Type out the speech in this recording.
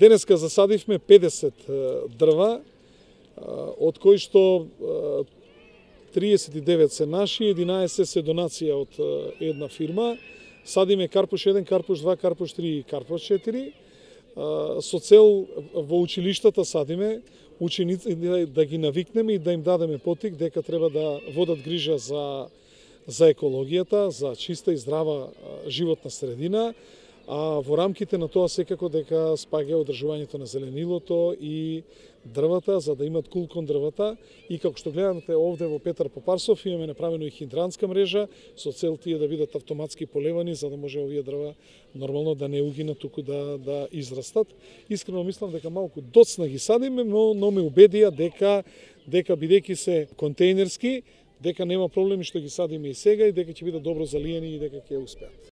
Денеска засадивме 50 дрва, од кои што 39 се наши, 11 се донација од една фирма. Садиме карпуш 1, карпуш 2, карпуш 3 и карпуш 4. Со цел во училиштата садиме ученици да ги навикнеме и да им дадеме потик дека треба да водат грижа за екологијата, за чиста и здрава животна средина, а во рамките на тоа секако дека спаѓа одржувањето на зеленилото и дрвата, за да имат кул кон дрвата. И како што гледате овде во Петар Попарсов имаме направено и хидрантска мрежа со цел тие да бидат автоматски полевани, за да може овие дрва нормално да не угинат, туку да израстат. Искрено мислам дека малку доцна ги садиме, но ме убедија дека бидејќи се контејнерски, дека нема проблеми што ги садиме и сега и дека ќе бидат добро залиени и дека ќе успеат.